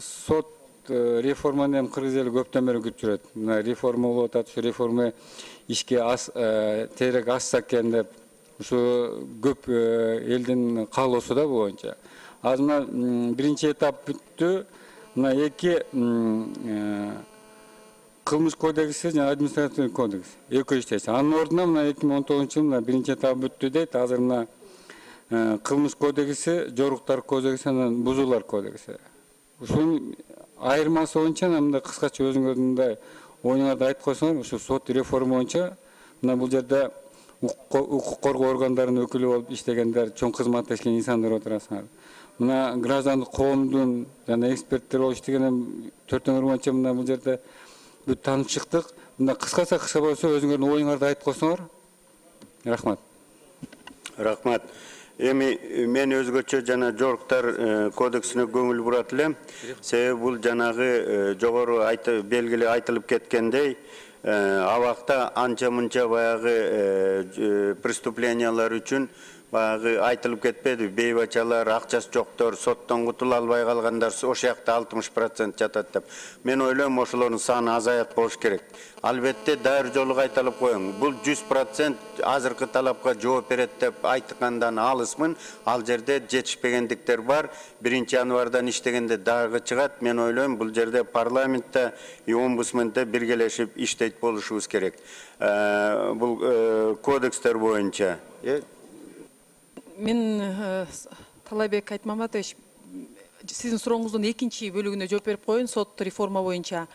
сот реформаны эми кыргыз эли көптөн бери күтүп жүрөт. Мына реформа болуп атат, ушу реформа ишке тезирээк ашса экен деп ушу көп элдин каалоосу да бул боюнча. Азыр мына биринчи этап бүттү. Мына эки кылмыш кодекси жана административный кодекс экөө иштейт. Анын ордуна мына 2019 мына биринчи этап бүттү дейт. Азыр мына кылмыш кодекси, жоруктар кодекси, анан бузуулар кодекси. Ушунун айырмасы боюнча мындай кыскача өзүңөрдүн мындай оюңарды айтып койсоңор, ушу сот реформа боюнча мына бул жерде укук коргоо органдарынын өкүлү болуп иштегендер, чоң кызматташкан инсандар отурасыңар. Мына граждандык коомдун жана эксперттер болуп иштеген төртөңөр боюнча мына бул жерде бүт таанып чыктык. Мына кыскача болсо өзүңөрдүн оюңарды айтып койсоңор. Рахмат. Рахмат. Эми мен өзгөчө жана жоруктар кодексине көңүл бурат элем. Себеби бул жанагы жогору белгилүү айтылып кеткендей, абакта анча-мынча баягы преступлениялар үчүн баягы айтылып кетпеди, бейбачалар, акчасы жоктор, соттон кутула албай калгандар ошол жакта 60% жатат деп. Мен ойлойм, ошолордун саны азаят болуш керек. Албетте дайыр жолу кайталап коеюн. Бул 100% азыркы талапка жооп берет деп айткандан алысмын. Ал жерде жетишпегендиктер бар. 1-январдан иштегенде дагы чыгат. Мен ойлойм, бул жерде парламентте и омбудсмендте биргелешип иштейт болушубуз керек. Бул кодекстер боюнча. Мен Талайбек Айтмаматович, сиздин сурооңуздун экинчи бөлүгүнө жооп берип коеюн. Сот реформа боюнча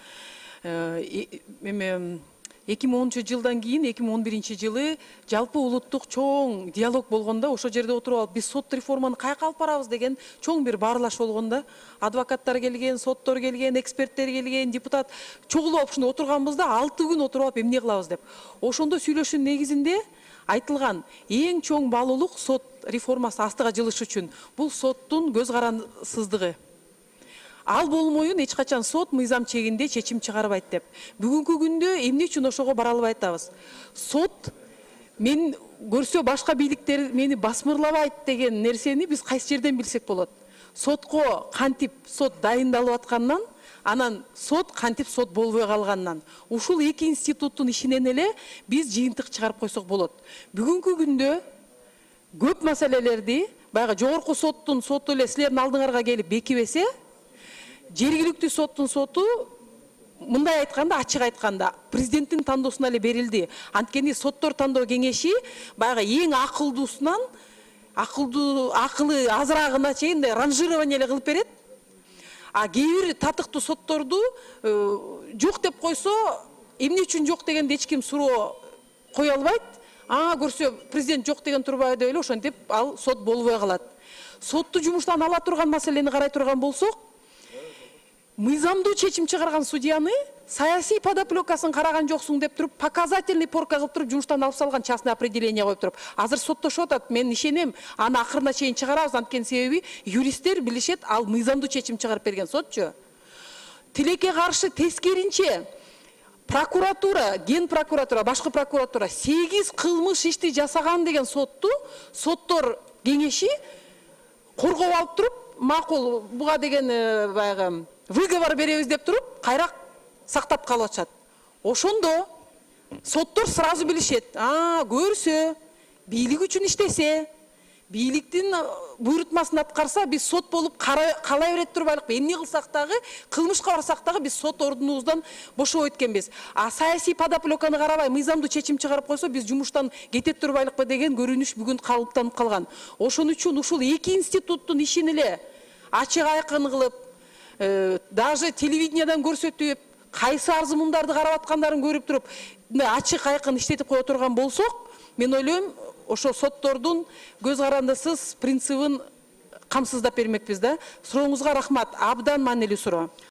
2010-жылдан кийин 2011-жылы жалпы улуттук чоң диалог болгондо, ошол жерде отуруп алып, биз сот реформаны каяка алып барабыз деген чоң бир баарлаш болгондо, адвокаттар келген, соттор келген, эксперттер келген, депутат чогулуп алып ушунда отурганбызда 6 күн отуруп алып эмне кылабыз деп. Ошондо сүйлөшүүнүн негизинде айтылган эң чоң баалуулук сот реформасы астыга жылыш үчүн бул соттун көз карансыздыгы. Ал болмоюн эч качан сот мыйзам чегинде чечим чыгарбайт деп. Бүгүнкү күндө эмне үчүн ошого бара албай атабыз? Сот мен көрсө башка бийликтер мени басмырлабайт деген нерсени биз кайсы жерден билсек болот? Сотко кантип сот дайындалып аткандан, анан сот кантип сот болбой калганынан. Ушул эки институттун ишинен эле биз жыйынтык чыгарып койсок болот. Бүгүнкү күндө көп маселелерди баягы жогорку соттун соту эле силердин алдыңарга келип бекибесе, жергиликтүү соттун соту мындай айтканда, ачык айтканда, президенттин тандоосуна эле берилди. Анткени соттор тандоо кеңеши баягы эң акылдуусунан акылы азыраагына чейин ранжирование эле кылып берет. А кээ бир татыктуу сотторду жок деп койсо, эмне үчүн жок дегенде эч ким суроо кое албайт. Көрсө президент жок деген турбайбы деп эле ошентип ал сот болбой калат. Сотту жумуштан ала турган маселени карай турган болсок, мыйзамдуу чечим чыгарган судьяны саясий подоплекасын караган жоксуң деп туруп, показательный порка кылып туруп жумуштан алып салган, частный определение коюп туруп. Азыр соттошуп атат. Мен ишенем, аны акырына чейин чыгарабыз, анткени себеби юристтер билишет, ал мыйзамдуу чечим чыгарып берген сотчу. Тилекке каршы тескеринче прокуратура, ген прокуратура, башкы прокуратура 8 кылмыш ишти жасаган деген соттор кеңеши коргоп алып туруп, макул буга деген баягы выговор беребиз деп туруп, кайра сактап калып атышат. Ошондо соттор сразу билишет. Көрсө, бийлик үчүн иштесе, бийликтин буйрутмасын аткарса, биз сот болуп калай берет турбайлыкпы? Эмне кылсак дагы, кылмышка барсак дагы биз сот ордунубуздан бошобойт экенбиз. Саясий подоплеканы карабай, мыйзамдуу чечим чыгарып койсо, биз жумуштан кетет турбайлыкпы деген көрүнүш бүгүн калыптанып калган. Ошон үчүн ушул эки институттун ишин эле ачык айкын кылып, даже телевидениядан көрсөтүп, кайсы арзымындарды карап аткандарын көрүп туруп, ачык айкын иштетип кое турган болсок, мен ойлойм, ошо соттордун көз карандысыз принцибин камсыздап бермекпиз да. Сурооңузга рахмат. Абдан маанилүү суроо.